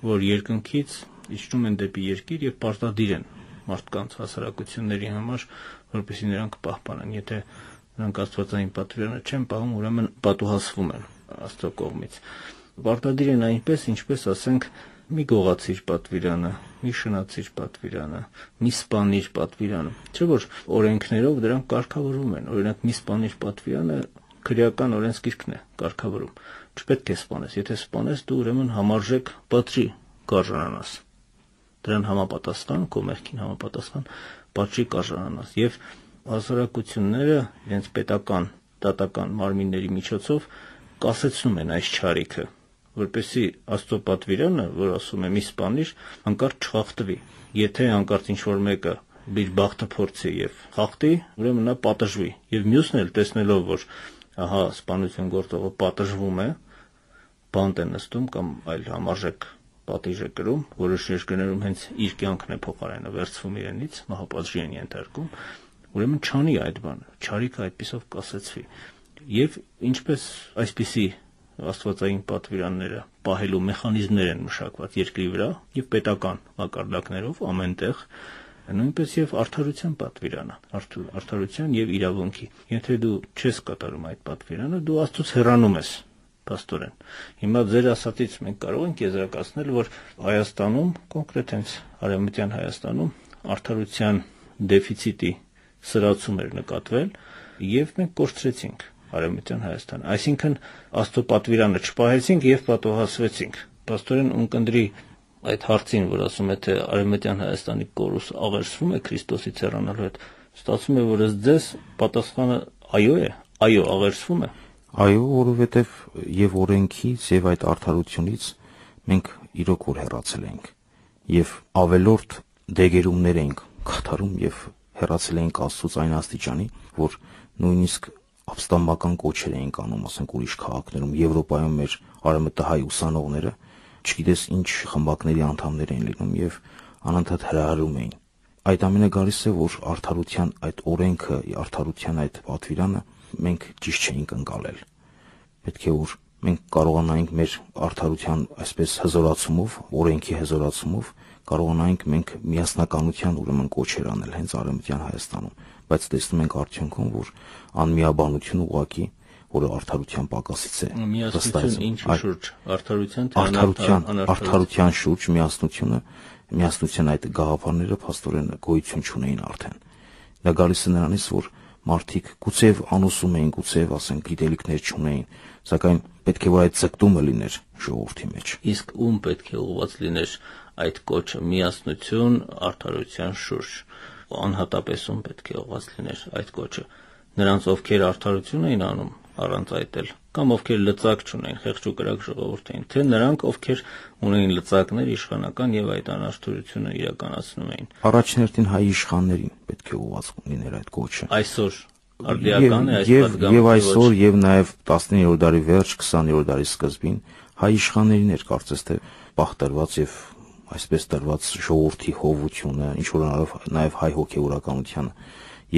որ երկնքից իջնում են դեպի երկիր եւ պարտադիր են մարդկանց հասարակությունների համար, որպեսզի նրանք պահպանեն։ Եթե նրանք աստվածային պատվիրաններ չեն պահում, ուրեմն պատուհասվում են Աստծո կողմից։ Պարտադիր են այնպես, ինչպես ասենք, մի գողացիր պատվիրանը, մի շնացիր պատվիրանը, մի սպանիր պատվիրանը։ Չէ՞ որ օրենքներով դրանք կարգավորվում են։ Օրինակ մի սպանիր պատվիրանը քրեական օրենսգիրքն է կարգավորում։ Չպետք է սպանես, եթե սպանես դու ուրեմն համարժեք պատժի կարժանանաս։ Դրան համապատասխան, քո մեղքին համապատասխան պատժի կարժանանաս։ Եվ հասարակությունները իրենց պետական, դատական մարմինների միջոցով կասեցնում են այս չարիքը, որպեսզի Աստծո պատվիրանը, որ ասում է մի սպանիր, հանկարծ չխախտվի։ Եթե հանկարծ ինչ-որ մեկը իր բախտը փորձի եւ խախտի, ուրեմն նա պատժվի։ Եվ մյուսն էլ տեսնելով, որ ահա սպանություն գործողը պատժվում է, բանտ է նստում կամ այլ համարժեք պատիժ է կրում, որոշ երկրներում հենց իր կյանքն է փոխարենը վերցվում իրենից, մահապատժի են ենթարկում, ուրեմն չանի այդ բանը, չարիքը այդպիսով կասեցվի։ Եվ ինչպես այսպիսի աստվածային պատվիրանները պահելու մեխանիզմներ են մշակված երկրի վրա եւ պետական մակարդակներով ամենտեղ, նույնպես եւ արդարության պատվիրանը, արդարության եւ իրավունքի։ Եթե դու չես կատարում այդ պատվիրանը, դու Աստծուց հեռանում ես, փաստորեն։ Հիմա ձեր ասածից մենք կարող ենք եզրակացնել, որ Հայաստանում, կոնկրետ հենց Արևմտյան Հայաստանում արդարության դեֆիցիտի սրացում էր նկատվել եւ մենք կորցրեցինք Արևմտյան Հայաստան, այսինքն Աստծո պատվիրանը չպահեցինք եւ պատոհասվեցինք։ Պաստորեն ունկնդրի այդ հարցին, որ ասում է թե Արևմտյան Հայաստանի կորուս աղերսվում է Քրիստոսից հեռանալու հետ, ստացվում է, որ ըստ ձեզ պատասխանը այո է, այո, աղերսվում է։ Այո, որովհետեւ եւ օրենքից եւ այդ արդարությունից մենք իրոք որ հեռացել ենք եւ ավելորդ դեգերումներ ենք կատարում եւ հեռացել ենք Աստծուց այն աստիճանի, որ նույնիսկ ապստամբական կոչեր էին անում, ասենք ուրիշ քաղաքներում, Եվրոպայում մեր արևմտահայ ուսանողները, չգիտես ինչ խմբակների անդամներ էին լինում եւ անընդհատ հրահրում էին։ Այդ ամենը գալիս է, որ արդարության այդ օրենքը, արդարության այդ պատվիրանը մենք ճիշտ չէինք ընկալել։ Պետք է որ մենք կարողանայինք մեր արդարության այսպես հզորացումով, օրենքի հզորացումով կարողանայինք մենք միասնականության ուրեմն կոչեր անել հենց Արևմտյան Հայաստանում, բայց տեսնում ենք արդյունքում, որ անմիաբանությունը ուղղակի, որը արդարության պակասից է, միասնություն ինչի շուրջ, արդարության թե անարդարության, արդարության շուրջ միասնությունը, միասնության այդ գաղափարները փաստորեն գոյություն չունեին արդեն։ Դա գալիս է նրանից, որ մարդիկ գուցեև անուսում էին, գուցեև ասենք գիտելիքներ չունեին, սակայն պետք է որ այդ ձգտումը լիներ ժողովրդի մեջ։ Իսկ ում պետք է ուղղված լիներ այդ կոչը միասնություն արդարության շուրջ, անհատապես ում պետք է ուղղված լիներ այդ կոչը։ Նրանց ովքեր արդարություն էին անում առանց այդ էլ, կամ ովքեր լծակ չունեին, խեղճ ու կրակ ժողովուրդ էին, թե նրանք ովքեր ունեին լծակներ իշխանական եւ այդ անարդարությունը իրականացնում էին։ Առաջին հայ իշխաններին պետք է ուղղված լիներ այդ կոչը։ Այսօր արդիական է այս պատգամը։ Եվ այսօր եւ նաեւ տասնիններորդ դարի վերջ, քսաներորդ դարի սկզբին հայ իշխաններին էր կարծես թե պահտրված եւ այսպես տրված ժողովրդի հովությունը, ինչ որ անալով նաեւ հայ հոգեվորականությանը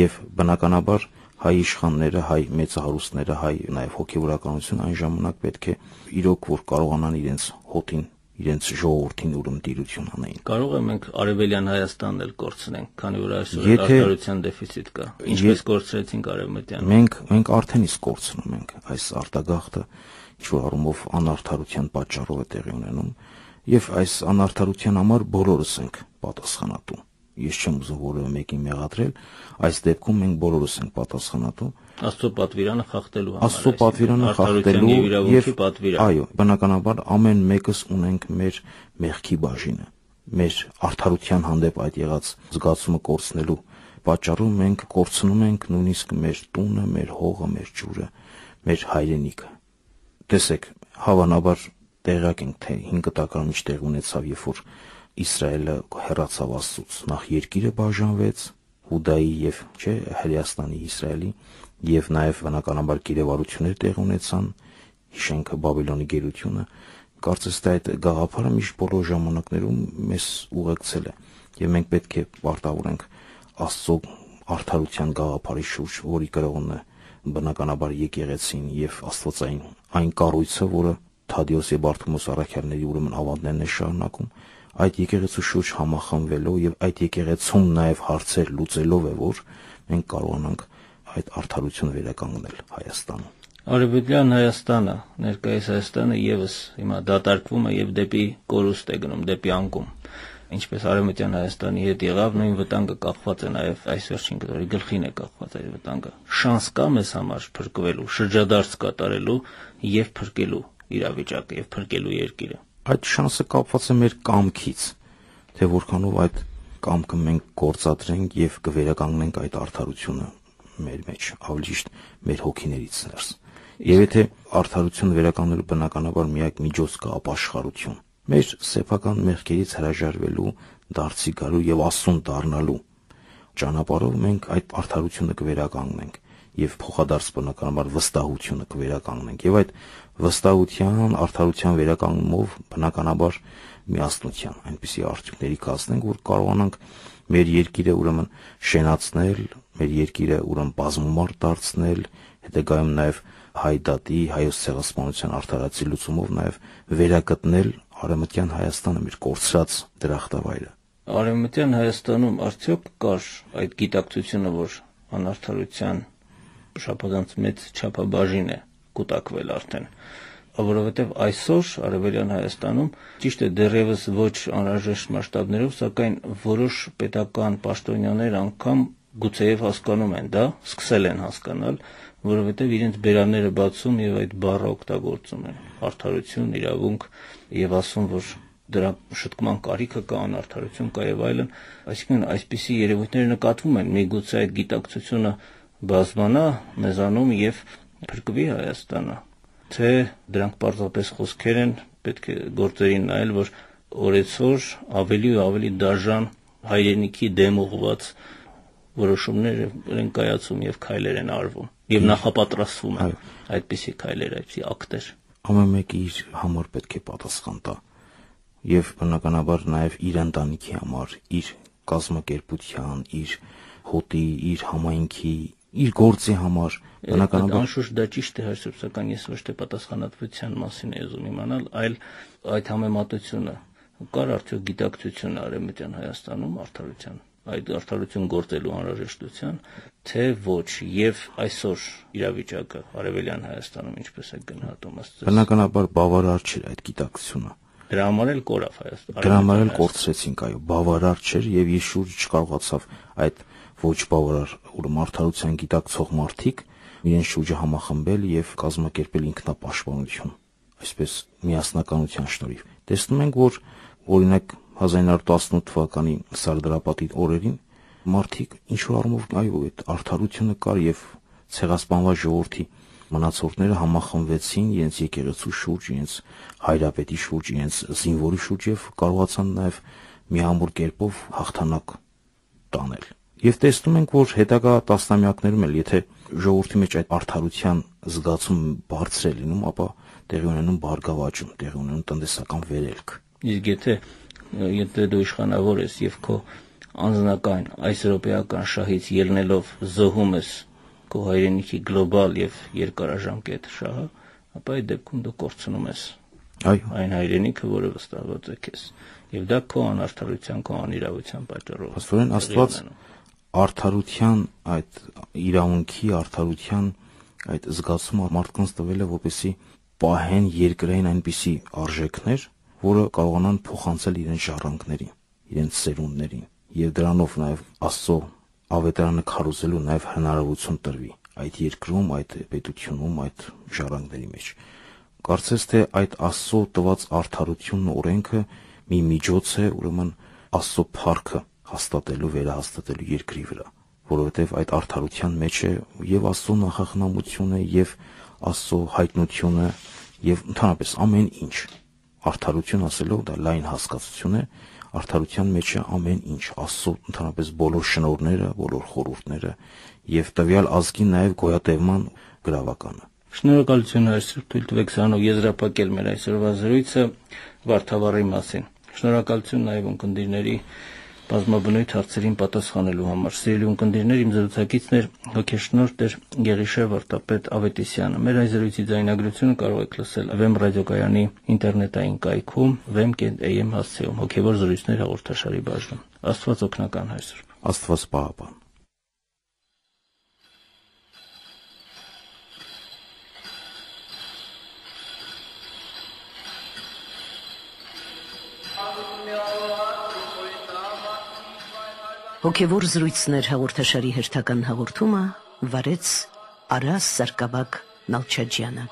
եւ բնականաբար հայ իշխանները, հայ մեծահարուստները, հայ նաև հոգևորականությունը այն ժամանակ պետք է իրոք որ կարողանան իրենց հոտին, իրենց ժողովրդին ուրույն տիրություն անեին։ Կարող է մենք Արևելյան Հայաստանն էլ կորցնենք, քանի որ այսօր արտադրության դեֆիցիտ կա։ Ինչպես կորցրեցինք Արևմտյան։ Մենք մենք արդեն իսկ կորցնում ենք այս արտագաղթը, ինչ որ առումով անարդարության պատճառով է տեղի ունենում, եւ այս անարդարության համար բոլորս ենք պատասխանատու։ Ես չեմ ուզում որևէ մեկին մեղադրել, այս դեպքում մենք բոլորս ենք պատասխանատու։ Աստծո պատվիրանը խախտելու համար։ Աստծո պատվիրանը խախտելու եւ այո, բնականաբար ամեն մեկս ունենք մեր մեղքի բաժինը։ Մեր արդարության հանդեպ այդ եղած զգացումը կորցնելու պատճառով մենք կորցնում ենք նույնիսկ մեր տունը, մեր հողը, մեր ջուրը, մեր հայրենիքը։ Տեսեք, հավանաբար տեղյակ ենք, թե հինգ տակառն ինչ տեղ ունեցավ, երբ որ Իսրայելը հեռացավ Աստծուց, նախ երկիրը բաժանվեց Հուդայի եւ չէ Հրեաստանի Իսրայելի եւ նաեւ բնականաբար գերեվարություններ տեղ ունեցան, հիշենք Բաբելոնի գերությունը, կարծես թե այդ գաղափարը միշտ բոլոր ժամանակներում մեզ ուղեկցել է եւ մենք պետք է պարտավորենք Աստծո արդարության գաղափարի շուրջ, որի կրողն է բնականաբար եկեղեցին եւ Աստվածային այն կառույցը, որը Թադեոս եւ Բարթոմեոս առաքյալների ուրեմն ավանդներն է շարունակում, այդ եկեղեցու շուրջ համախմբվելով եւ այդ եկեղեցում նաեւ հարցեր լուծելով է, որ մենք կարողանանք այդ արդարությունը վերականգնել Հայաստանում։ Արևելյան Հայաստանը, ներկայիս Հայաստանը եւս հիմա դատարկվում է եւ դեպի կորուստ է գնում, դեպի անկում։ Ինչպես Արևմտյան Հայաստանի հետ եղավ, նույն վտանգը կախված է նաեւ այս վերջին կտորի գլխին է կախված այդ վտանգը։ Շանս կա մեզ համար փրկվելու, շրջադարձ կատարելու եւ փրկելու իրավիճակը եւ փրկելու երկիրը։ Այդ շանսը կապված է մեր կամքից, թե որքանով այդ կամքը մենք գործադրենք եւ կվերականգնենք այդ արդարությունը մեր մեջ, ավելի ճիշտ մեր հոգիներից ներս։ Եվ եթե արդարությունը վերականգնելու բնականաբար միակ միջոց կա ապաշխարություն, մեր սեփական մեղքերից հրաժարվելու, դարձի գալու եւ Աստծուն դառնալու ճանապարհով մենք այդ արդարությունը կվերականգնենք եւ փոխադարձ բնականաբար վստահությունը կվերականգնենք եւ այդ վստահության, արդարության վերականգնումով բնականաբար միասնության այնպիսի արդյունքների կազմենք, որ կարողանանք մեր երկիրը ուրեմն շենացնել, մեր երկիրը ուրեմն բազմամարդ դարձնել, հետագայում նաեւ հայ դատի, հայոց ցեղասպանության արդարացի լուծումով նաեւ վերագտնել Արևմտյան Հայաստանը, մեր կորցրած դրախտավայրը։ Արևմտյան Հայաստանում արդյոք կար այդ գիտակցությունը, որ անարդարության շաբաթանց մեծ չափաբաժին է կուտակվել արդեն, որովհետև այսօր Արևելյան Հայաստանում ճիշտ է դեռևս ոչ անհրաժեշտ մասշտաբներով, սակայն որոշ պետական պաշտոնյաներ անգամ գուցեև հասկանում են դա, սկսել են հասկանալ, որովհետև իրենց բերանները բացում եւ այդ բառը օգտագործում են՝ արդարություն, իրավունք, եւ ասում, որ դրա շտկման կարիքը կա, անարդարություն կա եւ այլն, այսինքն այսպիսի երևույթներ նկատվում են, միգուցե այդ գիտակցությունը բազմանա մեզանում եւ փրկվի Հայաստանը, թե դրանք պարզապես խոսքեր են, պետք է գործերին նայել, որ օրեցօր ավելի ու ավելի դաժան հայրենիքի դեմ ուղղված որոշումներ են կայացում եւ քայլեր են արվում եւ նախապատրաստվում են այդպիսի քայլեր, այդպիսի ակտեր։ Ամեն մեկը իր համար պետք է պատասխան տա եւ բնականաբար նաեւ իր ընտանիքի համար, իր կազմակերպության, իր հոտի, իր համայնքի, իր գործի համար բնականաբար անշուշտ դա ճիշտ է, հաշտով, սակայն ես ոչ թե պատասխանատվության մասին եմ ուզում իմանալ, այլ այդ համեմատությունը կար արդյոք գիտակցություն Արևմտյան Հայաստանում արդարության, այդ արդարություն գործելու անհրաժեշտության, թե ոչ, եւ այսօր իրավիճակը Արևելյան Հայաստանում ինչպես է գնահատում ըստ։ Բնականաբար բավարար չէր այդ գիտակցությունը։ Դրա համար էլ կորավ Հայաստանը։ Դրա համար էլ կորցրեցինք, այո, բավարար չէր եւ ես շուրջ չկարողացավ այդ ոչ բավարար ուրեմն արդարության գիտակցող մարդիկ իրեն շուրջը համախմբել եւ կազմակերպել ինքնապաշտպանություն, այսպես միասնականության շնորհիվ։ Տեսնում ենք, որ օրինակ հազար իննսուն տասնութ թվականի Սարդարապատի օրերին մարդիկ ինչ որ առումով այո այդ արդարությունը կար եւ ցեղասպանված ժողովրդի մնացորդները համախմբվեցին իրենց եկեղեցու շուրջ, իրենց հայրապետի շուրջ, իրենց զինվորի շուրջ եւ կարողացան նաեւ միամուր կերպով հաղթանակ տանել։ Եվ տեսնում ենք, որ հետագա տասնամյակներում էլ եթե ժողովրդի մեջ այդ արդարության զգացում բարձր է լինում, ապա տեղի ունենում բարգավաճում, տեղի ունենում տնտեսական վերելք։ Իսկ եթե եթե դու իշխանավոր ես եւ քո անձնական այս եվրոպեական շահից ելնելով զոհում ես քո հայրենիքի գլոբալ եւ երկարաժամկետ շահը, ապա այդ դեպքում դու կորցնում ես Այո, այն հայրենիքը, որը վստահված է քեզ, եւ դա քո անարդարության, քո անիրավության պատճառով։ Աստորեն Աստված արդարության այդ իրավունքի արդարության այդ զգացումը մարդկանց տվել է, որպեսզի պահեն երկրային այնպիսի արժեքներ, որը կարողանան փոխանցել իրենց ժառանգներին, իրենց սերունդներին, եւ դրանով նաեւ Աստծո ավետարանը քարոզելու նաեւ հնարավորություն տրվի այդ երկրում, այդ պետությունում, այդ ժառանգների մեջ։ Կարծես թե այդ Աստծո տված արդարությունն ու օրենքը մի միջոց է, ուրեմն Աստծո փառքը հաստատելու, վերահաստատելու երկրի վրա, որովհետև այդ արդարության մեջ է եւ Աստծո նախախնամությունը, եւ Աստծո հայտնությունը, եւ ընդհանրապես ամեն ինչ։ Արդարություն ասելով դա լայն հասկացություն է, արդարության մեջ է ամեն ինչ, Աստծո ընդհանրապես բոլոր շնորհները, բոլոր խորհուրդները եւ տվյալ ազգի նաեւ գոյատևման գրավականը։ Շնորհակալություն այսօր թույլ տվեք սրանով եզրափակել մեր այսօրվա զրույցը Վարդավառի մասին։ Շնորհակալություն նաև ունկնդիրների բազմաբնույթ հարցերին պատասխանելու համար։ Սիրելի ունկնդիրներ, իմ զրուցակիցն էր հոգեշնորհ Տեր Գերիշե Վարդապետ Ավետիսյանը։ Մեր այս զրույցի ձայնագրությունը կարող եք լսել Վեմ ռադիոկայանի ինտերնետային կայքում վեմ կետ էյ էմ հասցեում հոգևոր զրույցներ հաղորդաշարի բաժնում։ Աստված օգնական հայ Սուրբ։ Աստված պահապան։ Հոգևոր զրույցներ հաղորդաշարի հերթական հաղորդումը վարեց Արաս Սարգսակ Նալչաջյանը։